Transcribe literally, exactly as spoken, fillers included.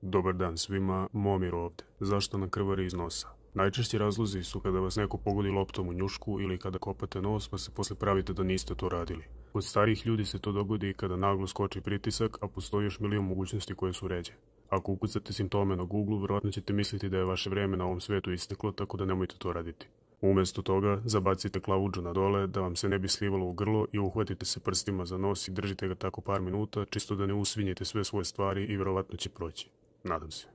Dobar dan svima, Momir ovdje. Zašto nam krvari iz nosa? Najčešći razlozi su kada vas neko pogodi loptom u njušku ili kada kopate nos pa se posle pravite da niste to radili. Kod starijih ljudi se to dogodi i kada naglo skoči pritisak, a postoji još milion mogućnosti koje su ređe. Ako ukucate simptome na Google, vjerojatno ćete misliti da je vaše vrijeme na ovom svijetu isteklo, tako da nemojte to raditi. Umjesto toga, zabacite klavuđu na dole da vam se ne bi slivalo u grlo i uhvatite se prstima za nos i držite ga tako par minuta, čisto da ne usvinjete sve svoje stvari i vjerojatno će proći. Nadam se.